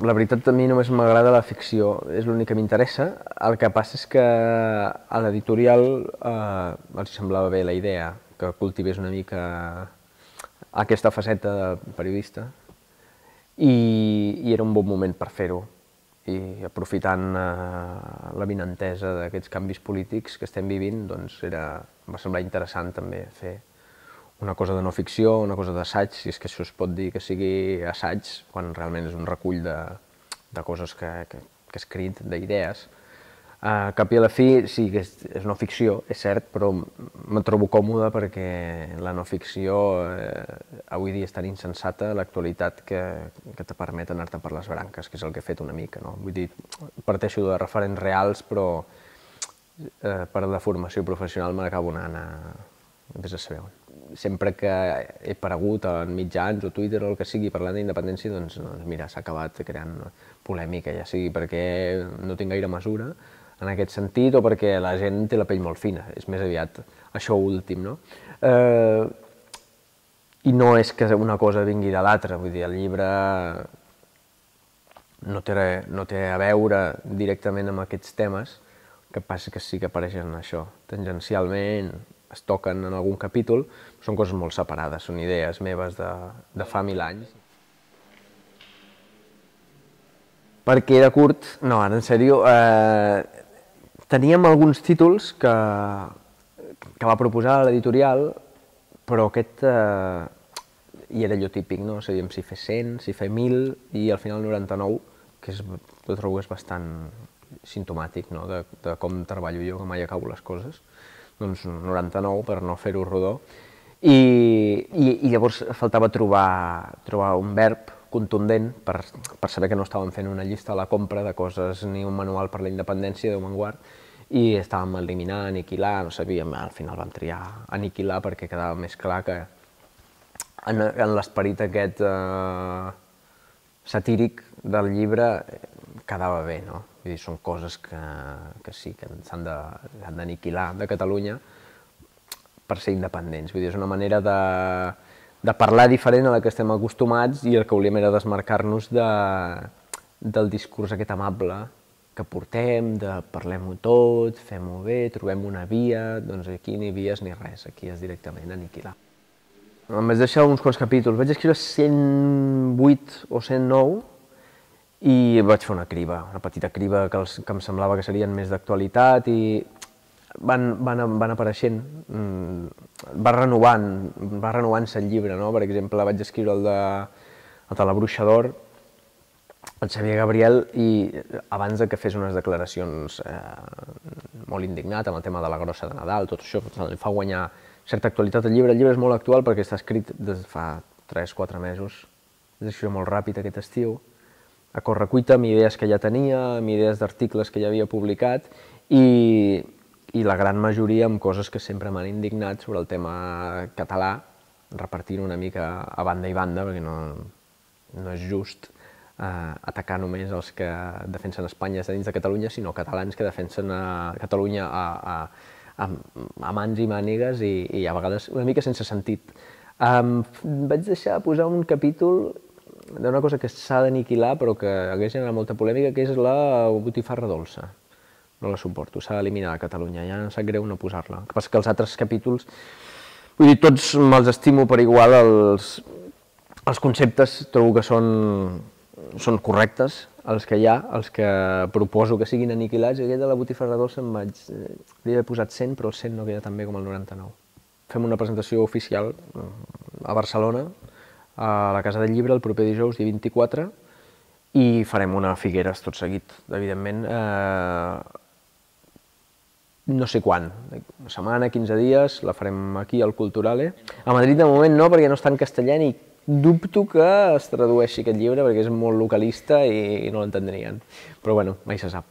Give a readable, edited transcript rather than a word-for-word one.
La veritat, a mi només m'agrada la ficció, és l'únic que m'interessa. El que passa és que a l'editorial els semblava bé la idea, que cultivés una mica aquesta faceta de periodista, i era un bon moment per fer-ho. I aprofitant l'avinentesa d'aquests canvis polítics que estem vivint, doncs va semblar interessant també fer una cosa de no ficció, una cosa d'assaig, si és que això es pot dir que sigui assaig, quan realment és un recull de coses que he escrit, d'idees. Al cap i a la fi, sí que és no ficció, és cert, però me trobo còmode perquè la no ficció avui dia és tan insensata, l'actualitat, que te permet anar-te per les branques, que és el que he fet una mica. Vull dir, parteixo de referents reals, però per la formació professional me n'acabo anant a vés a saber on. Sempre que he aparegut en mitjans o Twitter o el que sigui parlant d'independència, doncs mira, s'ha acabat creant polèmica, ja sigui perquè no tinc gaire mesura en aquest sentit o perquè la gent té la pell molt fina, és més aviat això últim, no? I no és que una cosa vingui de l'altra, vull dir, el llibre no té a veure directament amb aquests temes, el que passa que sí que apareixen això, tangencialment, es toquen en algun capítol, són coses molt separades, són idees meves de fa 1000 anys. Per què era curt? No, ara en sèrio, teníem alguns títols que va proposar l'editorial, però aquest i era allò típic, no? Sabíem si fer 100, si fer 1000, i al final 99, que jo trobo que és bastant simptomàtic de com treballo jo, que mai acabo les coses, doncs 99 per no fer-ho rodó, i llavors faltava trobar un verb contundent per saber que no estàvem fent una llista a la compra de coses ni un manual per la independència, Déu me'n guard, i estàvem eliminar, aniquilar, no sabíem, al final vam triar aniquilar perquè quedava més clar que en l'esperit aquest satíric del llibre quedava bé, no? Vull dir, són coses que sí, que s'han d'aniquilar de Catalunya per ser independents. Vull dir, és una manera de parlar diferent a la que estem acostumats i el que volíem era desmarcar-nos del discurs aquest amable que portem, de parlem-ho tot, fem-ho bé, trobem una via, doncs aquí ni vies ni res, aquí és directament aniquilar. Em vaig deixar uns quants capítols, vaig escriure 108 o 109, i vaig fer una criba, una petita criba que em semblava que serien més d'actualitat, i van apareixent, va renovant-se el llibre, no? Per exemple, vaig escriure el de la Bruixa d'Or, el Xavier Gabriel, i abans que fes unes declaracions molt indignat amb el tema de la grossa de Nadal, tot això li fa guanyar certa actualitat al llibre. El llibre és molt actual perquè està escrit des de fa 3-4 mesos, vaig escriure molt ràpid aquest estiu, a correcuita, amb idees que ja tenia, amb idees d'articles que ja havia publicat, i la gran majoria amb coses que sempre m'han indignat sobre el tema català, repartint una mica a banda i banda, perquè no és just atacar només els que defensen Espanya dins de Catalunya, sinó catalans que defensen Catalunya a mans i mànigues i a vegades una mica sense sentit. Vaig deixar posar un capítol d'una cosa que s'ha d'aniquilar però que hagués generat molta polèmica, que és la botifarra dolça. No la suporto, s'ha d'eliminar a Catalunya, ja em sap greu no posar-la. El que passa que els altres capítols, vull dir, tots me'ls estimo per igual, els conceptes trobo que són correctes, els que hi ha, els que proposo que siguin aniquilats, i aquest de la botifarra dolça li he posat 100, però el 100 no queda tan bé com el 99. Fem una presentació oficial a Barcelona, a la Casa del Llibre, el proper dijous, dia 24, i farem una Figueres tot seguit, evidentment, no sé quan, una setmana, 15 dies, la farem aquí al Culturale. A Madrid de moment no, perquè no està en castellà, i dubto que es tradueixi aquest llibre, perquè és molt localista i no l'entendrien, però bueno, mai se sap.